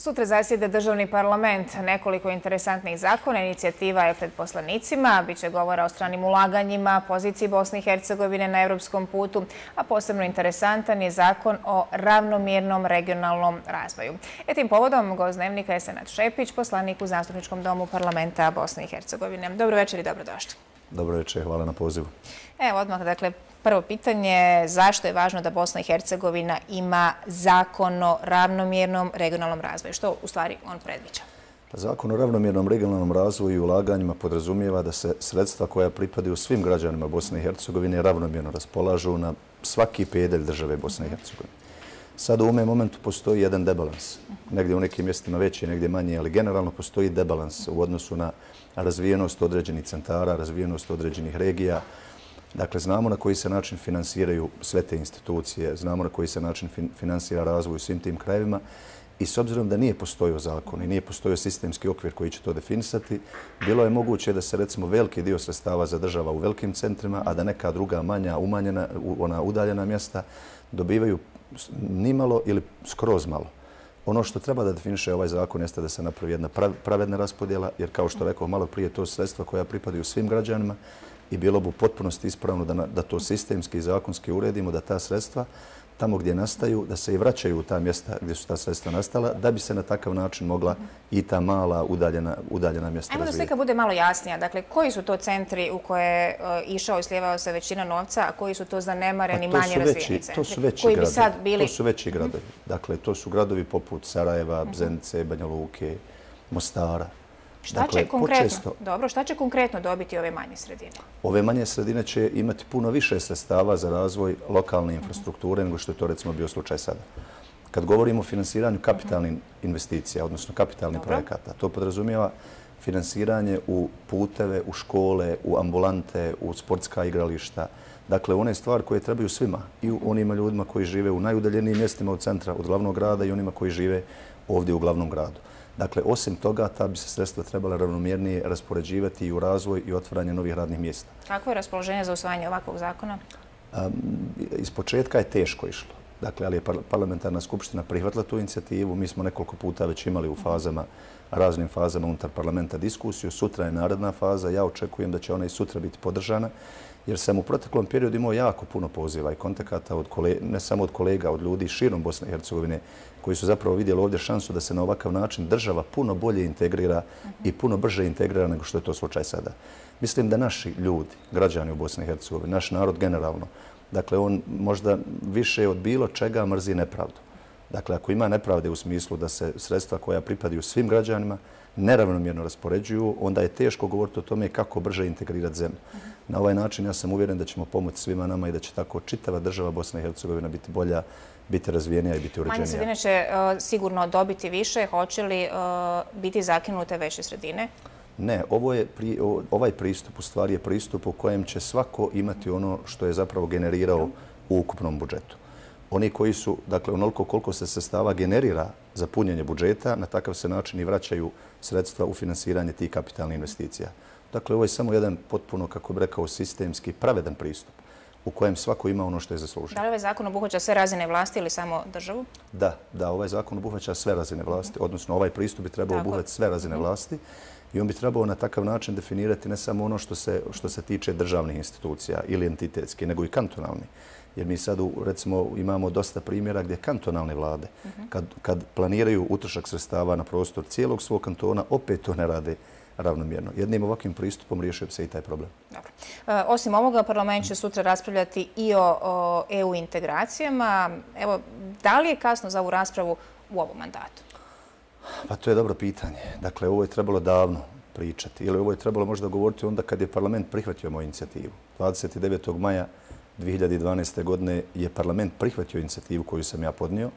Sutra zasjeda državni parlament. Nekoliko interesantnih zakona, inicijativa je pred poslanicima. Biće govora o stranim ulaganjima, poziciji Bosne i Hercegovine na evropskom putu, a posebno interesantan je zakon o ravnomjernom regionalnom razvoju. Tim povodom gost dnevnika je Senad Šepić, poslanik u Zastupničkom domu parlamenta Bosne i Hercegovine. Dobro večer i dobrodošli. Dobro večer, hvala na pozivu. Evo odmah, dakle, prvo pitanje, zašto je važno da Bosna i Hercegovina ima zakon o ravnomjernom regionalnom razvoju? Što u stvari on predviđa? Zakon o ravnomjernom regionalnom razvoju i ulaganjima podrazumijeva da se sredstva koja pripadaju svim građanima Bosne i Hercegovine ravnomjerno raspolažu na svaki pedalj države Bosne i Hercegovine. Sad u ovome momentu postoji jedan debalans. Negdje u nekim mjestima veći, negdje manji, ali generalno postoji debalans u odnosu na razvijenost određenih centara, razvijenost određenih regija. Dakle, znamo na koji se način finansiraju sve te institucije, znamo na koji se način finansira razvoj u svim tim krajevima i s obzirom da nije postojao zakon i nije postojao sistemski okvir koji će to definisati, bilo je moguće da se recimo veliki dio sredstava zadržava u velikim centrima, a da neka druga manja, umanjena, ona udaljena mjesta dobivaju nimalo ili skroz malo. Ono što treba da definiše ovaj zakon jeste da se napravi jedna pravedna raspodjela, jer kao što rekao malo prije, to su sredstva koja pripadaju svim građanima i bilo bi u potpunosti ispravno da to sistemski i zakonski uredimo, da ta sredstva tamo gdje nastaju, da se i vraćaju u ta mjesta gdje su ta sredstva nastala, da bi se na takav način mogla i ta mala udaljena mjesta razvijeti. Ajmo da slika bude malo jasnija. Dakle, koji su to centri u koje je išao i slijevao se većina novca, a koji su to zanemareni, manje razvijeni centri? To su veći gradovi. Dakle, to su gradovi poput Sarajeva, Zenice, Banja Luke, Mostara. Šta će konkretno dobiti ove manje sredine? Ove manje sredine će imati puno više sredstava za razvoj lokalne infrastrukture nego što je to recimo bio slučaj sada. Kad govorimo o finansiranju kapitalnih investicija, odnosno kapitalnih projekata, to podrazumijeva finansiranje u puteve, u škole, u ambulante, u sportska igrališta. Dakle, one stvari koje trebaju svima i onima ljudima koji žive u najudaljenijim mjestima od centra, od glavnog grada i onima koji žive ovdje u glavnom gradu. Dakle, osim toga, ta bi se sredstva trebala ravnomjernije raspoređivati i u razvoj i otvaranje novih radnih mjesta. Kako je raspoloženje za usvajanje ovakvog zakona? Iz početka je teško išlo. Dakle, ali je parlamentarna skupština prihvatila tu inicijativu. Mi smo nekoliko puta već imali u raznim fazama unutar parlamenta diskusiju. Sutra je naredna faza. Ja očekujem da će ona i sutra biti podržana, jer sam u proteklom periodu imao jako puno poziva i kontakata, ne samo od kolega, od ljudi širom Bosne i Hercegovine, koji su zapravo vidjeli ovdje šansu da se na ovakav način država puno bolje integrira i puno brže integrira nego što je to slučaj sada. Mislim da naši ljudi, građani u Bosni i Hercegovini, naš narod generalno, dakle on možda više od bilo čega mrzi nepravdu. Dakle, ako ima nepravde u smislu da se sredstva koja pripadaju svim građanima neravnomjerno raspoređuju, onda je teško govoriti o tome kako brže integrirati zemlju. Na ovaj način ja sam uvjeren da ćemo pomoći svima nama i da će tako čitava država Bosna i Hercegovina biti bolja, biti razvijenija i biti uređenija. Manje sredine će sigurno dobiti više. Hoće li biti zakinute veće sredine? Ne, ovaj pristup u stvari je pristup u kojem će svako imati ono što je zapravo generirao u ukupnom budžetu. Oni koji su, dakle, onoliko koliko se sredstava generira za punjenje budžeta, na takav se način i vraćaju sredstva u finansiranje tih kapitalnih investicija. Dakle, ovo je samo jedan potpuno, kako bih rekao, sistemski pravedan pristup u kojem svako ima ono što je zaslužio. Da li ovaj zakon obuhvaća sve razine vlasti ili samo državu? Da, ovaj zakon obuhvaća sve razine vlasti, odnosno ovaj pristup bi trebao obuhvatiti sve razine vlasti i on bi trebao na takav način definirati ne samo ono što se tiče državnih institucija ili entitetski, nego i kantonalni. Jer mi sad, recimo, imamo dosta primjera gdje kantonalne vlade, kad planiraju utrošak sredstava na prostor cijelog svog kantona, opet to ne rade ravnomjerno. Jednim ovakvim pristupom riješio bi se i taj problem. Dobro. Osim ovoga, parlament će sutra raspravljati i o EU integracijama. Evo, da li je kasno za ovu raspravu u ovom mandatu? Pa to je dobro pitanje. Dakle, ovo je trebalo davno pričati. Ili ovo je trebalo možda govoriti onda kad je parlament prihvatio moju inicijativu. 29. maja 2012. godine je parlament prihvatio inicijativu koju sam ja podnio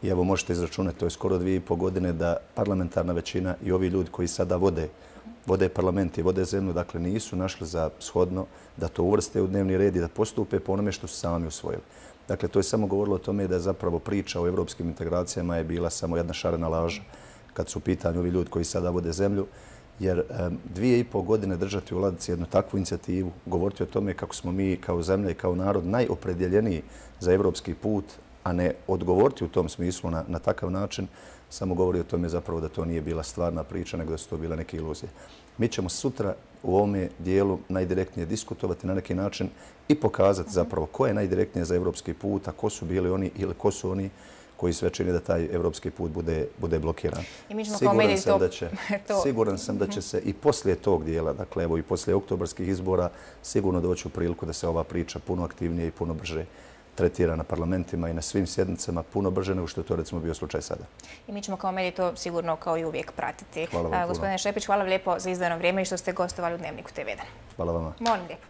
i evo možete izračunati, to je skoro 2,5 godine da parlamentarna većina i ovi ljudi koji sada vode parlament i vode zemlju, dakle nisu našli za shodno da to uvrste u dnevni red i da postupe po onome što su sami usvojili. Dakle, to je samo govorilo o tome da je zapravo priča o evropskim integracijama je bila samo jedna šarena laža kad su u pitanju ovi ljudi koji sada vode zemlju. Jer 2,5 godine držati u ladici jednu takvu inicijativu, govoriti o tome kako smo mi kao zemlja i kao narod najopredjeljeniji za evropski put, a ne odgovoriti u tom smislu na takav način, samo govori o tome zapravo da to nije bila stvarna priča, nego da su to bile neke iluzije. Mi ćemo sutra u ovome dijelu najdirektnije diskutovati na neki način i pokazati zapravo ko je najdirektnije za evropski put, a ko su bili oni ili ko su oni koji sve čini da taj evropski put bude blokiran. Siguran sam da će se i poslije tog dijela, dakle evo i poslije oktobarskih izbora, sigurno doći u priliku da se ova priča puno aktivnije i puno brže tretira na parlamentima i na svim sjednicama puno brže nego što je to recimo bio slučaj sada. I mi ćemo kao mediji to sigurno kao i uvijek pratiti. Hvala vam puno. Gospodine Šepić, hvala vam lijepo za izdvojeno vrijeme i što ste gostovali u Dnevniku TV1. Hvala vama. Molim lijepo.